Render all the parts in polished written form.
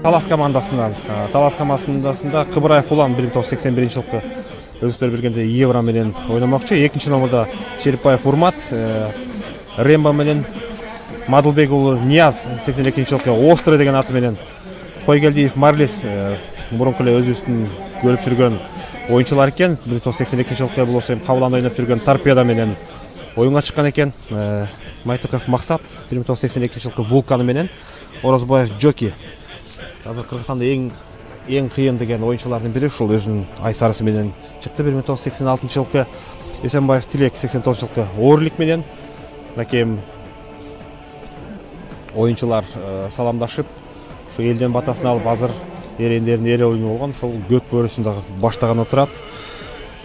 Талас командасында Кыбыраев Улан 1981-жылкы өзүлөр бергенде Евро менен ойномокчу. Экинчи номерда Шерипбаев Урмат, Ремба менен Мадылбек уулу Нияз 82-жылкы Острый деген аты менен, Койгелдиев Марлис мурунку эле өзүбүздүн көрүп жүргөн оюнчулар экен. 1982-жылкы бул эми Кабыланда ойноп жүргөн Торпедо менен оюнга чыккан экен. Майтыков Максат 1982-жылкы Вулканы менен, Орозбаев Джоки. Азыр Кыргызстанда эң кыйын деген оюнчулардын бири, ушул өзүнүн айсарысы менен чыкты. 1986-жылкы Эсенбаев Тилек 89-жылкы Ooрлик менен. Накем оюнчулар саламдашып, ушу элден батасын алып, азыр эрендердин эре оюну болгон, ошол көк бөрүсүн дагы баштаган отурат.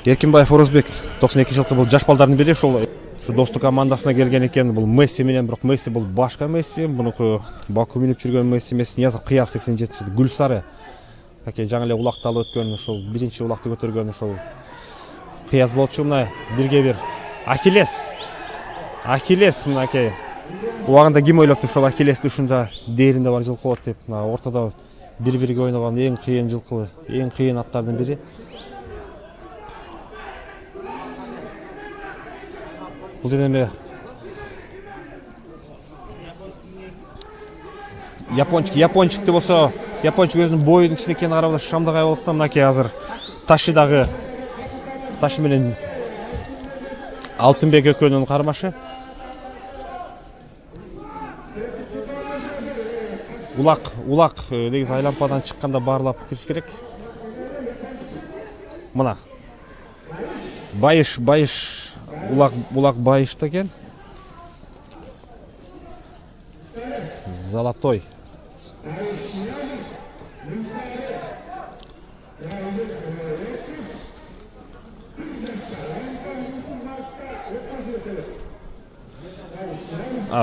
Эркинбаев Орозбек 92-жылкы бул жаш балдардын бири, ушул достук командасына келген экен. Бул Месси менен, бирок Месси бул башка Месси, мунуку Баку минип жүргөн Месси эмес. Ниязов Кыяз 87-жылкы Гүлсары. Жаңы эле улакты алып өткөн, ушул биринчи улакты көтөргөн ушул Кыяз болчу. Мына бирге бир Ахиллес мынакей. Убагында ким ойлопту ушул Ахиллести ушунда дээринде бар жылкы болот деп. Мына ортодо бири-бирге ойногон эң кыйын жылкы, эң кыйын аттардын бири. Бул жерде япончикти болсо, япончик өзүнүн боюнун кичине экенин карап шамдагай болуп, мынакей азыр Таши менен Алтынбек экөөнүн кармашы. Улак негизи айлампадан чыкканда баарлап кириш керек. Мына Байыш улак Байышта экен. Золотой.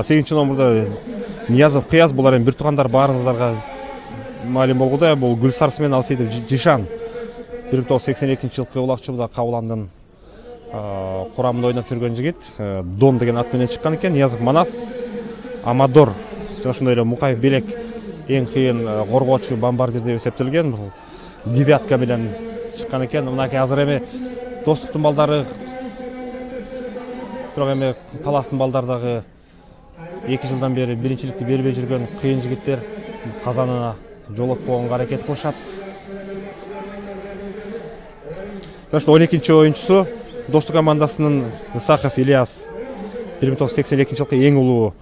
Сегинчи номерда Ниязов Кыяз, булар эми бир туугандар, баарыңыздарга маалым болгудай. Бул Гүлсарсы менен Алсейитов Жишан 1982-жылкы улакчыбыда Кабыландын курамында ойноп жүргөн жигит. Дон деген ат менен чыккан экен. Ниязов Манас, Амадор, жана ошондой эле Мукаев Белек эң кыйын коргоочу, бомбардир деп эсептелген. Бул девятка менен чыккан экен. Мынакей азыр эми достуктун балдары, бирок эми таластын балдары дагы 2 жылдан бери биринчиликти бербей жүргөн кыйын жигиттер казанына жолотпогонго аракет кылышат. Ошо 12-чи оюнчусу достук командасынын Исахов Ильяс 1982-жылкы эң улуу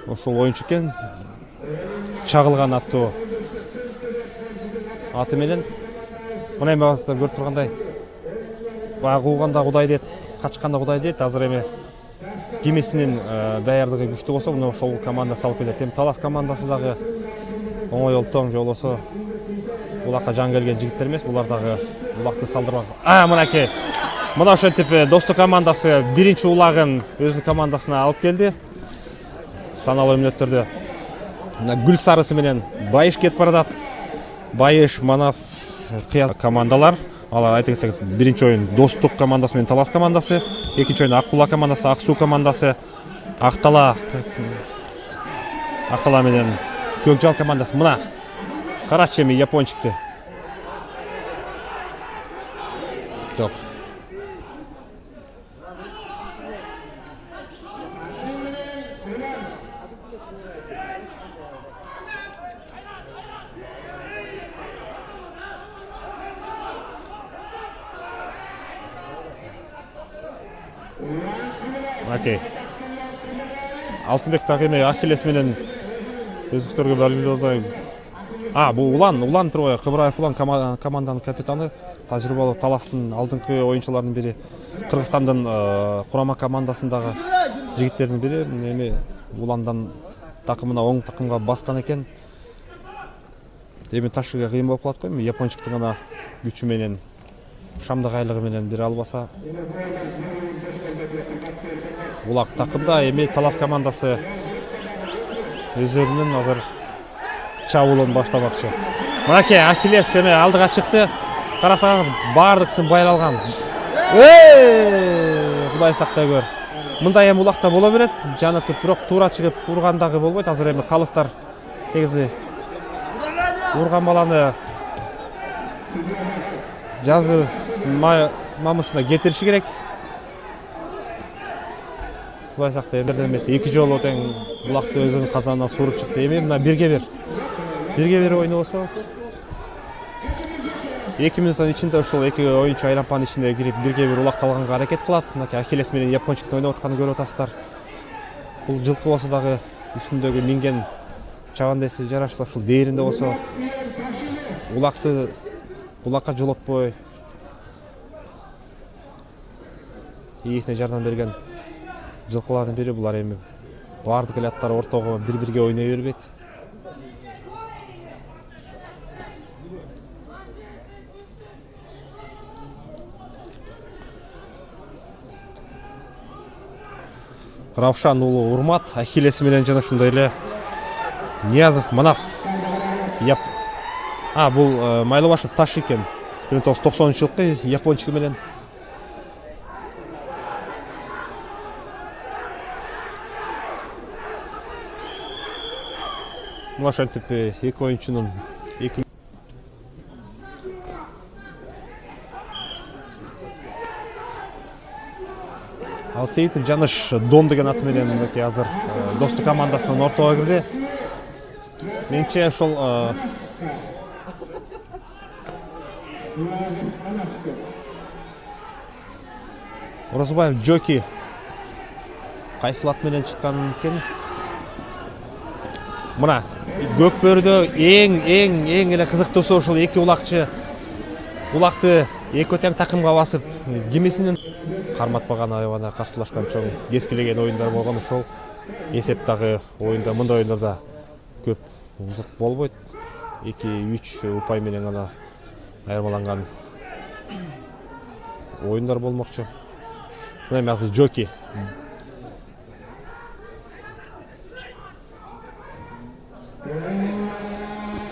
ошол оюнчу экен. Чагылган аттуу аты менен. Мына эми азыр көрүп тургандай, баягы кууганда Кудай дейт, качканда Кудай дейт. Азыр эми кимисинин даярдыгы күчтүү болсо, мына ошол команда салып келет. Эми Талас командасы дагы оңой олтоң жолосо улакка жан келген жигиттер эмес, булар дагы улакты салдырбак. Мынакей. Мына ошентип достук командасы биринчи улагын өзүнүн командасына алып келди. Саналуу мүнөттөрдө Гүлсарысы менен Байыш кетип баратат. Байыш, Манас, Кыяз командалар. Алар айта кетсек, биринчи оюн достук командасы менен Талас командасы, экинчи оюн Ак Кула командасы, Ак Суу командасы, Актала менен Көкжал командасы. Мына карачы эми япончикти. Жок. Окей. Алтынбек дагы эми Ахиллес менен өзүктөргө бөлүндү. Бул Улан турбайбы? Кыбыраев Улан команданын капитаны, тажрыйбалуу Таластын алдыңкы оюнчуларынын бири, Кыргызстандын курама командасындагы жигиттердин бири. Эми Уландан такымына оң такымга баскан экен. Эми Ташыга кыйын болуп калат го, эми япончиктин гана күчү менен, шамдагайлыгы менен бире албаса. Улак такымда эми Талас командасы өздөрүнүн азыр чабуулун баштамакчы. Мынакей Ахиллес эми алдыга чыкты. Карасаң баардыксын байлалган. Кудай сактай көр. Мындай эми улакта боло берет. Жанытып, бирок туура чыгып ургандагы болбойт. Азыр эми калыстар негизи урган баланы жазы мамысына кетириши керек. Кудай сактай, эмес 2 жолу тең улакты өзүнүн казанына сууруп чыкты. Эми мына 1-1 ойну болсо 2 минуттун ичинде ушул 2 оюнчу айлампанын ичине кирип 1-1 улакты алганга аракет кылат. Мынакей Ахиллес менен япончуктун ойноп атканын көрүп атасыздар. Бул жылкы болсо дагы үстүндөгү минген чабандеси жарашса, ушул дээринде болсо улакка жолотпой ээсине жардам берген жылкылардын бири. Булар эми баардык эле аттар ортого бири-бирге ойной бербейт. Равшан уулу Урмат Ахиллес менен жана ошондой эле Ниязов Манас. Бул Майлыбашев Таш экен. 1990-жылкы япончугу менен. Мына ошентип 2 оюнчунун Алсейитов Жаныш Дон деген аты менен мынакей азыр достук командасынын ортого кирди. Менимче ошол Орозбаев Джоки кайсыл ат менен чыккан экен? Мына көк бөрүдө эң эле кызыктуусу ушул 2 улакты эки тең такымга басып кимисинин карматпаган аябана каршылашкан чоң кескилеген оюндар болгон. Ошол эсеп дагы оюнда, мындай оюндарда көп узак болбойт. 2-3 упай менен гана айырмаланган оюндар болмокчу. Мына эми азыр Джоки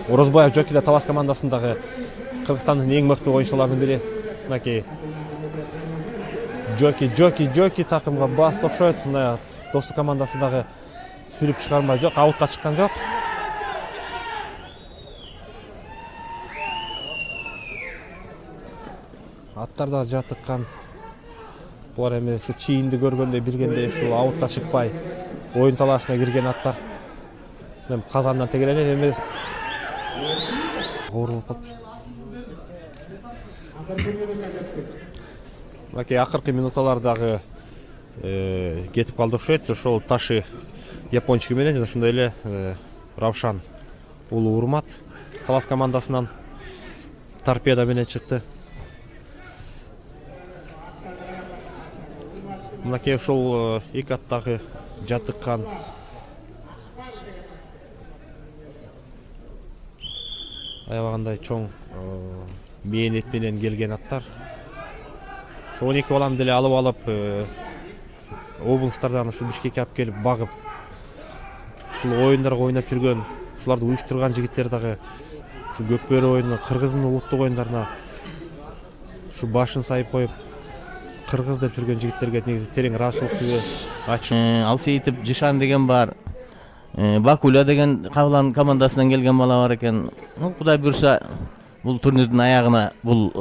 Орозбаев Джоки да Талас командасындагы Кыргызстандын эң мыкты оюнчуларынын бири. Мынакей Джоки такымга басып окшойт. Мына достук командасы дагы сүрүп чыгармай жок, аутка чыккан жок. Аттар да жатыккан. Булар эми ушу чийинди көргөндө билгендей ушул аутка чыкпай оюн талаасына кирген аттар. Эми казандан тегеленет эми оорулуп калыптыр. Мынакей акыркы минуталардагы кетип калды окшойт. Ошол Таши япончугу менен жана ошондой эле Равшан уулу Урмат Талас командасынан торпеда менен чыкты. Мынакей ушул 2 аттагы жатыккан аябагандай чоң мээнет менен келген аттар. Ошо 12 баланы деле алып облустардан ушу Бишкекке алып келип багып ушул оюндарга ойноп жүргөн, ушуларды уюштурган жигиттер дагы ушу Көкбөрү оюнуна, Кыргыздын улуттук оюндарына ушу башын сайып коюп кыргыз деп жүргөн жигиттерге негизи терең ыраазычылыктуу айтышым. Алсейитов Жишан деген бар. Бакуля деген Кабылан командасынан келген бала бар экен. Кудай буйрса бул турнирдин аягына бул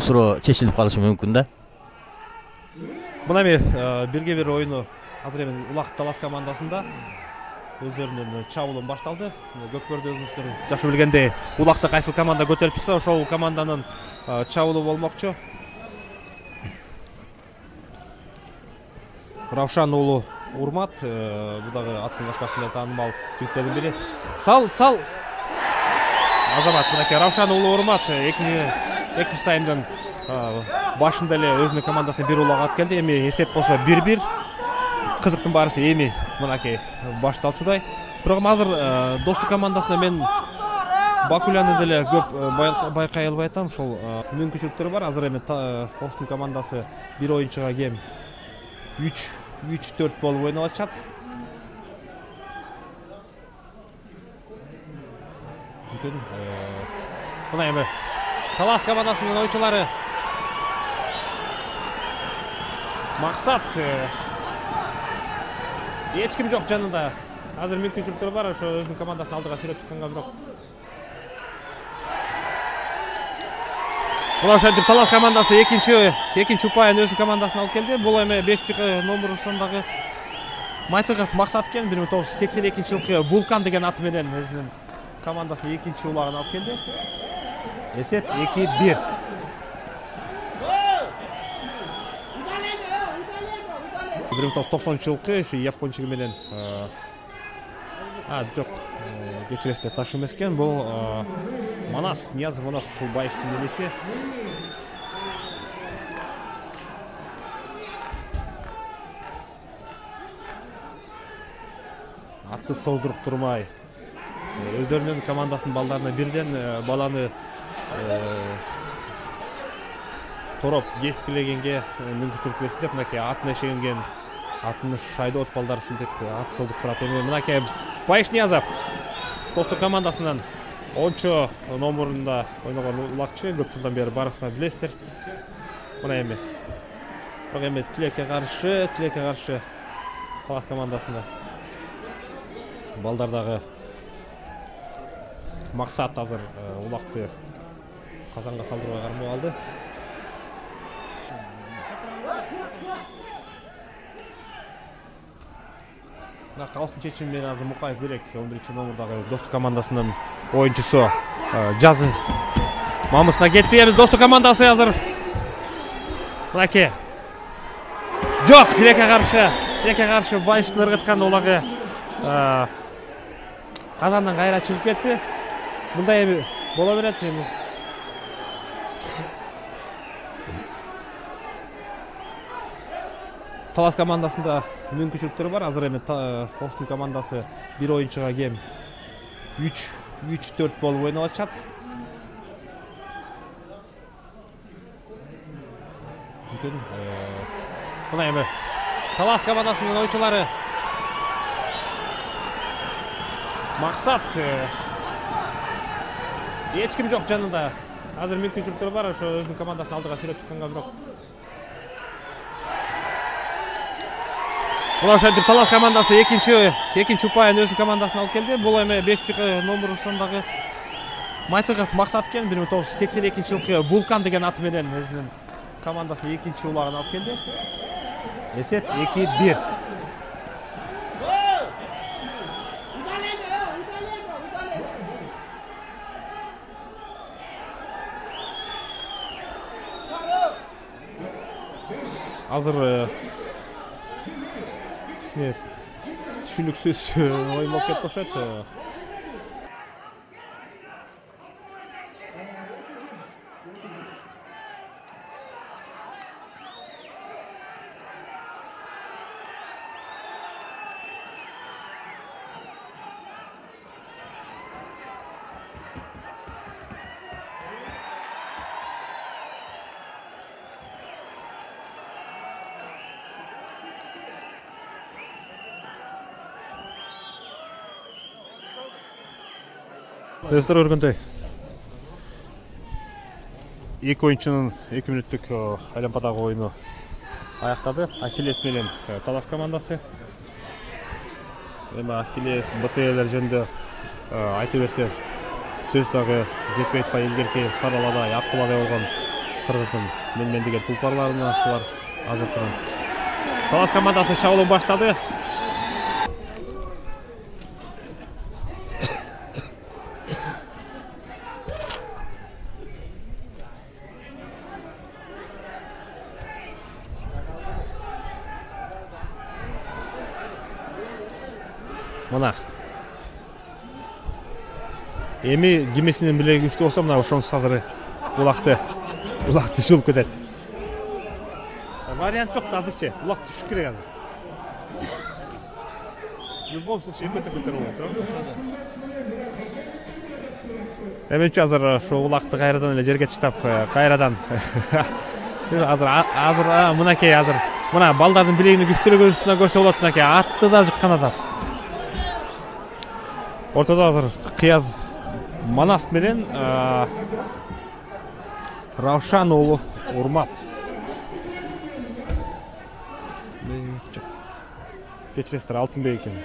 суроо чечилип калышы мүмкүн да. Мына эми 1-1 оюну азыр эми Улак Талас командасында өздөрүнүн чабуулу башталды. Көкбөрдө өзүңүздөр жакшы билгендей, Улакта кайсыл команда көтөрүп чыкса, ошол команданын чабуулу болмокчу. Равшан уулу Урмат, бул дагы аттын башкасында таанымал жигиттердин бири. Сал Азамат, мынакей Равшан уулу Урмат экинчи таймдын башында эле өзүнүн командасына бир улак алып келди. Эми эсеп болсо 1-1. Кызыктын баарысы эми мынакей башталчудай. Бирок азыр достук командасына мен Бакуляны деле көп байкай албай атам. Ошол мүмкүнчүлүктөр бар. Азыр эми Орустун командасы бир оюнчуга кем 3-4 болуп ойноп атышат. Мына эми Талас командасынын оюнчулары Максат эч ким жок жанында. Азыр мүмкүнчүлүктөр бар, ошо өзүнүн командасын алдыга сүрөп чыкканга, бирок Мына ошентип Талас командасы экинчи упайын өзүнүн командасына алып келди. Бул эми 5-номер сандагы Майтыгов Максат экен. 1982-жылкы Вулкан деген аты менен өзүнүн командасынын экинчи улагын алып келди. Эсеп 2-1. Бир 1990-жылкы ушу япончугу менен жок, кечиресиздер, таш эмес экен. Бул Манас, Ниязов Манас ушул байыштын энеси. Атты создуруп турмай өздөрүнүн командасынын балдарына бирден баланы тороп кескилегенге мүмкүнчүлүк берсин деп мынакей атын эшегенген атын шайдоот балдар ушинтип ат создуктурат. Эми мынакей Байыш Ниязов Достук командасынан 10-номерунда ойногон улакчы, көп жылдан бери барысына билесиздер. Мына эми бирок эми тилекке каршы Талас командасында балдардагы Максат азыр улакты казанга салдырбай кармап алды. Калсын чечим менен азыр Мукаев Берек 11-номердагы Достук командасынын оюнчусу жазы мамысына кетти. Эми Достук командасы азыр мынакей жок, тилекке каршы Байыштын ыргыткан улагы казандан кайра чыгып кетти. Мындай эми боло берет. Эми Талас командасында мүмкүнчүлүктөр бар. Азыр эми Оштун командасы бир оюнчуга кем 3-4 болуп ойноп атышат. Мына эми Талас командасынын оюнчулары Максат эч ким жок жанында. Азыр мүмкүнчүлүктөр бар, ошо өзүнүн командасын алдыга сүрөп чыкканга бирок. Мына ошентип Талас командасы экинчи упайын өзүнүн командасына алып келди. Бул эми 5-номер сандагы Майтыгов Максат экен. 1982-жылкы Вулкан деген аты менен өзүнүн командасынын экинчи улагын алып келди. Эсеп 2-1. Азыр түшүнүксүз оюн болуп кетти окшойт. Өздөрү көргөндөй эки оюнчунун 2 мүнөттүк айланпадагы оюну аяктады. Ахиллес менен Талас командасы. Эми Ахиллес БТЛер жөнүндө айта берсе сөз дагы жетпей атпай, илгерки Сараладай, Аккуладай болгон кыргыздын мен деген тулпарларына ушулар азыркы Талас командасы чабуулун баштады. Мына эми кимисинин билеги күчтүү болсо мына ошонсуз азыр улакты жулуп кетет. Вариант жок азырчы. Улак түшүш керек азыр. В любом случае көтөрүп болот. Эми азыр ошо улакты кайрадан эле жерге таштап, кайрадан азыр мынакей азыр мына балдардын билегинин күчтүүлүгүн көрсө болот. Мынакей атты да жыккан атат. Ортодо азыр Кыяз Манас менен Равшан уулу Урмат. Кечиресиздер, Алтынбек экен.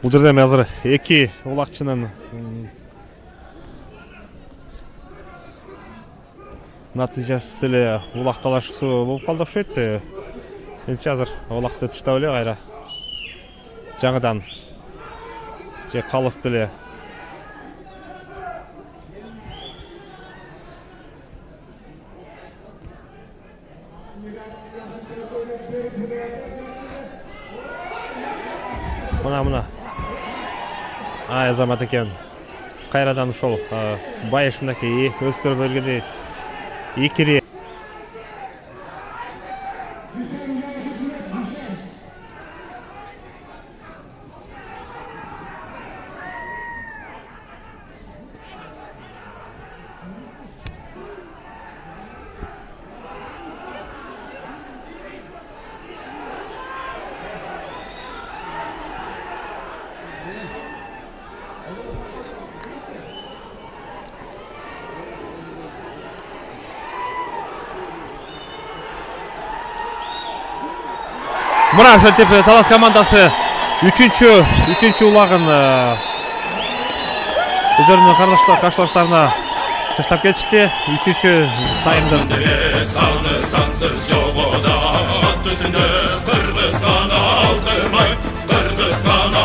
Бул жерде эми азыр эки улакчынын натыйжасы эле улак талашуусу болуп калды окшойт. Менимче азыр улакты тыштап эле кайра жаңыдан же калысты эле мына азамат экен кайрадан ушол байыш мынакей өздөрү бөлгөндөй икири мына ошентип Талас командасы үчүнчү улагын өздөрүнүн каршылаштарына таштап кетишти. Үчүнчү таймдын Кыргызстан